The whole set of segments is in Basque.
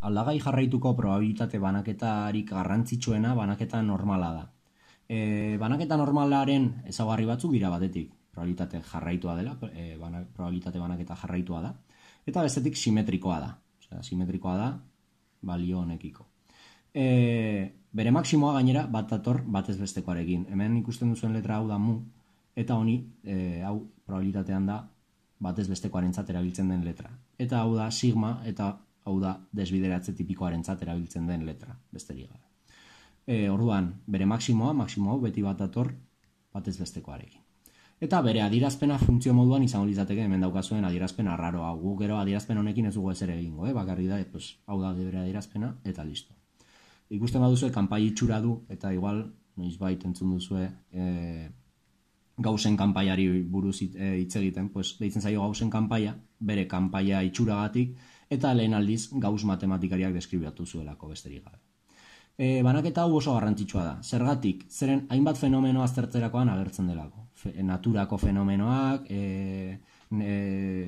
aldagai jarraituko probabilitate banaketarik garrantzitsuena banaketa normala da. Banaketa normalaren ezaugarri batzuk dira batetik, probabilitate jarraitua dela, probabilitate banaketa jarraitua da, eta bestetik simetrikoa da. Osea, simetrikoa da balio honekiko. Bere maksimoa gainera bat dator batez bestekoarekin. Hemen ikusten duzuen letra hau da mu, eta honi, hau probabilitatean da batez bestekoarentzat erabiltzen den letra. Eta hau da sigma, eta hau da desbideratze tipikoarentzat erabiltzen den letra, besterik gabe. Orduan, bere maksimoa beti bat dator batez bestekoarekin. Eta bere adierazpena funtzio moduan izango litzateke hemen daukazuen adierazpen arraroa. Guk gero adierazpen honekin ez dugu ezer egingo, bakarrik da, hau da bere adierazpena, eta listo. Ikusten baduzue kanpai itxura du, eta igual, noizbait entzun duzue Gaussen kanpaiari buruz hitz egiten, deitzen zaio Gaussen kanpaia, bere kanpaia itxuragatik, eta lehen aldiz Gauss matematikariak deskribatu zuelako besterik gabe. Banaketa hau oso garrantzitsua da. Zergatik, zeren hainbat fenomeno aztertzerakoan agertzen delako. Naturako fenomenoak,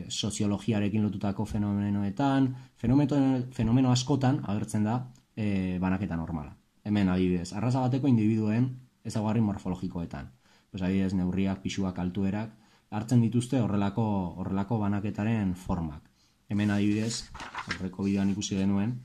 soziologiarekin lotutako fenomenoetan, fenomeno askotan agertzen da banaketa normala. Hemen adibidez, arraza bateko individuen ezaugarri morfologikoetan. Adibidez, neurriak, pisuak, altuerak, hartzen dituzte horrelako banaketaren formak. Hemen adibidez, horreko bideoan ikusi genuen,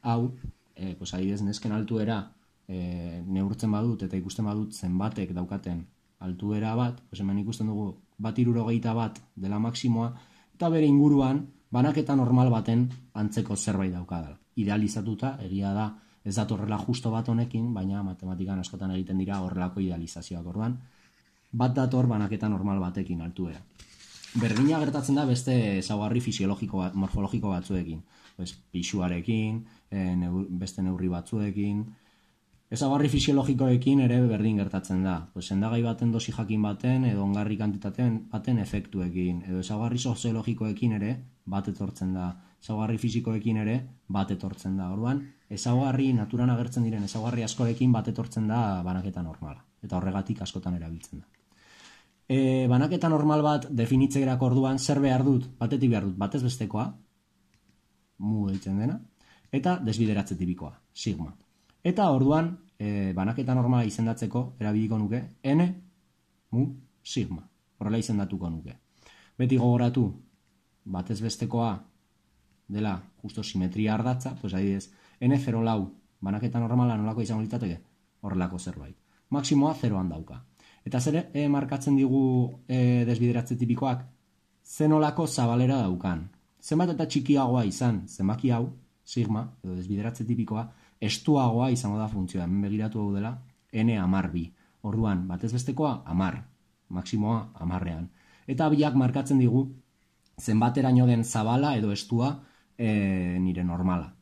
hau, adibidez, nesken altuera neurtzen badut eta ikusten badut zenbatek daukaten altuera bat, hemen ikusten dugu 1,61 dela maksimoa, eta bere inguruan banaketa normal baten antzeko zerbait daukadala. Idealizatuta, egia da, ez datorrela justo bat honekin, baina matematikan askotan egiten dira horrelako idealizazioak. Orduan, bat dator banaketa normal batekin altuera. Berdina gertatzen da beste ezaugarri morfologiko batzuekin. Pisuarekin, beste neurri batzuekin. Ezaugarri fisiologikoekin ere berdin gertatzen da. Sendagai baten dosi jakin baten edo ongarri kantitateen baten efektuekin. Edo ezaugarri soziologikoekin ere bat etortzen da. Ezaugarri fisikoekin ere bat etortzen da. Orduan, ezaugarri naturan agertzen diren ezaugarri askorekin bat etortzen da banaketa normala. Eta horregatik askotan erabiltzen da. Banaketa normal bat definitzegerako orduan zer behar dut? Batetik behar dut batez bestekoa, mu deitzen dena, eta desbideratze tipikoa, sigma. Eta orduan, banaketa normala izendatzeko erabiliko nuke n mu sigma. Horrela izendatuko nuke. Beti gogoratu, batez bestekoa dela justo simetria ardatza, adibidez, n0 banaketa normala nolako izango litzateke horrelako zerbait. Maksimoa 0an dauka. Eta zer markatzen digu desbideratze tipikoak? Zenolako zabalera daukan. Zenbat eta txikiagoa izan zenbaki hau, sigma, edo desbideratze tipikoa, estuagoa izango da funtzioa. Hemen begiratu hau dela, n×2. Orduan, batez bestekoa, 10. Maksimoa, 10ean. Eta biak markatzen digu zenbateraino den zabala edo estua nire normala.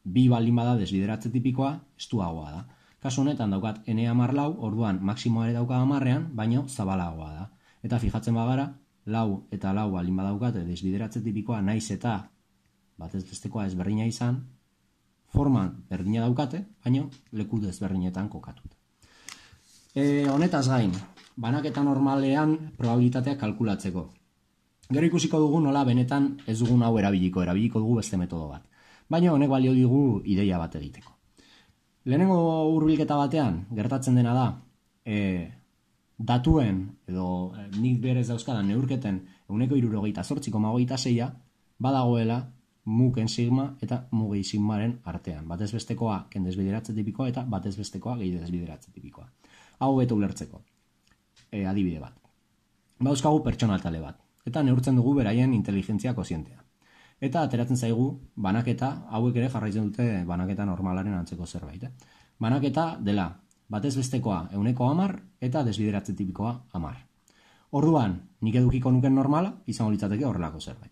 2 baldin bada desbideratze tipikoa, estuagoa da. Kasu honetan daukat n×4, orduan maksimoa ere dauka 10ean, baino zabalagoa da. Eta fijatzen bagara, 4 eta 4 baldin badaukate desbideratze tipikoa naiz eta batez bestekoa ezberdina izan, forman berdina daukate, baino leku desberdinetan kokatuta. Honetaz gain, banaketa normalean probabilitatea kalkulatzeko. Gero ikusiko dugu nola benetan ez dugun hau erabiliko dugu beste metodo bat. Baina honek balio digu ideia bat egiteko. Lehenengo hurbilketa batean gertatzen dena da datuen edo nik berez dauzkadan neurketen 168,26 badagoela muken sigma eta mugei sigmaren artean. Batez bestekoa ken desbideratze tipikoa eta batez bestekoa gehi desbideratze tipikoa. Hau beto ulertzeko. Adibide bat. Bauzkagu pertsona tale bat. Eta neurtzen dugu beraien inteligentzia kozientea. Eta ateratzen zaigu banaketa, hauek ere jarraitzen dute banaketa normalaren antzeko zerbait. Banaketa dela batez bestekoa 110 eta desbideratze tipikoa 10. Orduan, nik edukiko nuken normala, izango litzateke horrelako zerbait.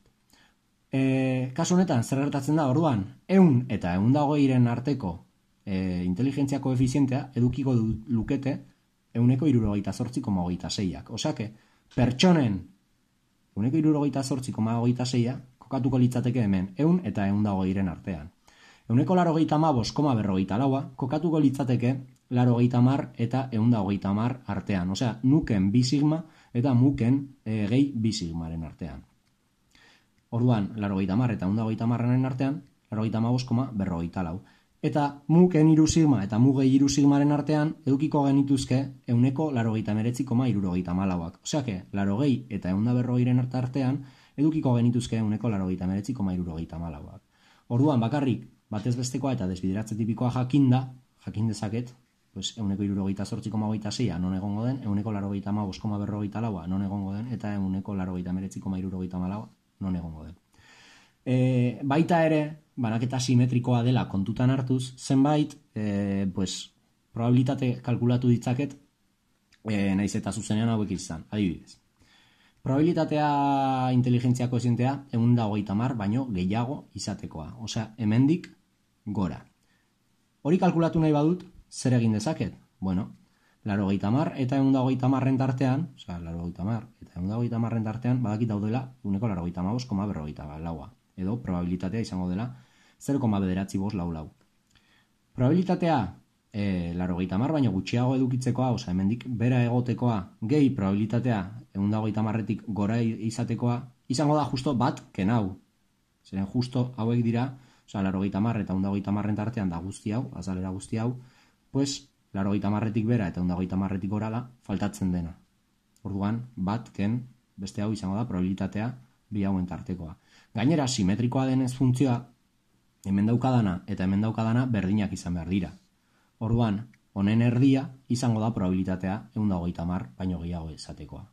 Kasu honetan, zer gertatzen da, orduan, 100 eta 120ren arteko inteligentzia koefizientea edukiko lukete 168,26ak. Osake, pertsonen 168,26a kokatuko litzateke hemen 100 eta 120ren artean. 185,54a kokatuko litzateke 80 eta 130 artean. Osea, nuken bi sigma eta muken gehi bi sigmaren artean. Orduan, 80 eta 130ren artean, 0,5,54. Eta muk N sigma eta muk gehi sigmaren artean edukiko genituzke 0,99,74. Oseake, 80 eta 140 artean edukiko genituzke 0,99,74. Orduan, bakarrik, batez bestekoa eta desbideratze tipikoa jakin dezaket, pues 0,78,26 non egongo den, 0,85,44 non egongo den, eta 0,99,74 non egongo den. Baita ere, banaketa simetrikoa dela kontutan hartuz, zenbait, probabilitate kalkulatu ditzaket, naiz eta zuzenean hauek izan, adibidez. Probabilitatea inteligentzia koezientea 150 baino gehiago izatekoa, osea, hemendik gora. Hori kalkulatu nahi badut, zer egin dezaket? Bueno, 80 eta 150 tartean, osea, 80 eta 150 tartean, badakit daudela 0,85,44. Edo probabilitatea izango dela 0,954. Probabilitatea 80 baino gutxiago edukitzekoa, osea, hemendik bera egotekoa, gehi probabilitatea 150tik gora izatekoa, izango da justo bat kenau. Zeren justo hauek dira, osea, 80 eta 150 tartean da guzti hau, azalera guzti hau, pues 80tik bera eta 150tik gora da faltatzen dena. Orduan, bat ken beste hau izango da probabilitatea bi hauen tartekoa. Gainera, simetrikoa denez funtzioa, hemen daukadana eta hemen daukadana berdinak izan behar dira. Orduan, honen erdia izango da probabilitatea 150 baino gehiago izatekoa.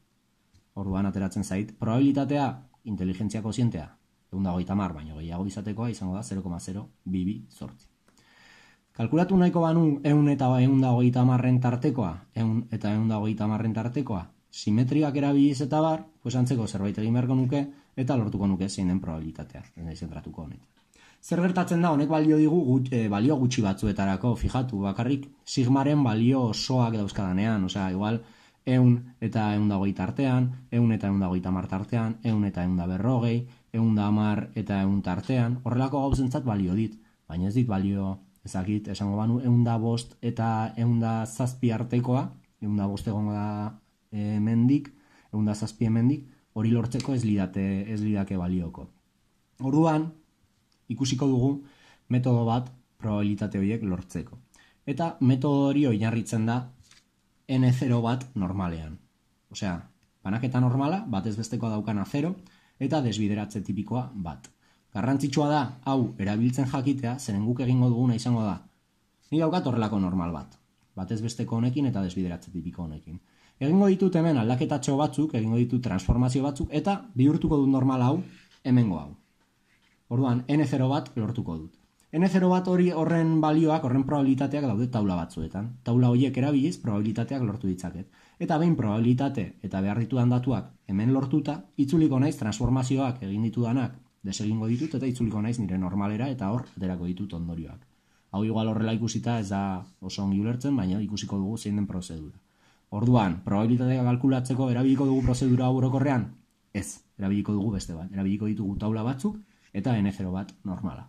Orduan, ateratzen zait, probabilitatea inteligentzia kozientea 150 baino gehiago izatekoa izango da 0,022. Kalkulatu nahiko banu 100 eta 150 tartekoa, 100 eta 150 tartekoa, simetriak erabiliz eta bar, pues antzeko zerbait egin beharko nuke, eta lortuko nuke zein den probabilitatea, zentratuko honetan. Zer gertatzen da, honek balio digu balio gutxi batzuetarako, fijatu, bakarrik sigmaren balio osoak dauzkadanean, osea, igual, 100 eta 120 tartean, 100 eta 150 tartean, 100 eta 140, 110 eta 100 tartean, horrelako gauzentzat balio dit, baina ez dit balio, ezakit, esango banu, 105 eta 107 artekoa, 105 egongo da hemendik, 107 hemendik, hori lortzeko ez lidake balioko. Orduan, ikusiko dugu metodo bat probabilitate horiek lortzeko. Eta metodo hori oinarritzen da N0 bat normalean. Osea, banaketa normala, batez bestekoa daukana 0, eta desbideratze tipikoa bat. Garrantzitsua da, hau erabiltzen jakitea, zeren guk egingo duguna izango da. Ni daukat horrelako normal bat. Batez besteko honekin eta desbideratze tipiko honekin. Egingo ditut hemen aldaketatxo batzuk, egingo ditut transformazio batzuk, eta bihurtuko dut normal hau, hemengo hau. Orduan, N0 bat lortuko dut. N0 bat horren balioak, horren probabilitateak daude taula batzuetan. Taula horiek erabiliz, probabilitateak lortu ditzaket. Eta behin probabilitate eta behar ditudan datuak hemen lortuta, itzuliko naiz transformazioak egin ditudanak desegingo ditut eta itzuliko naiz nire normalera eta hor aterako ditut ondorioak. Hau igual horrela ikusita ez da oso ongi ulertzen, baina ikusiko dugu zein den prozedura. Orduan, probabilitatea kalkulatzeko erabiliko dugu prozedura orokorrean? Ez, erabiliko dugu beste bat. Erabiliko ditugu taula batzuk eta N0 bat normala.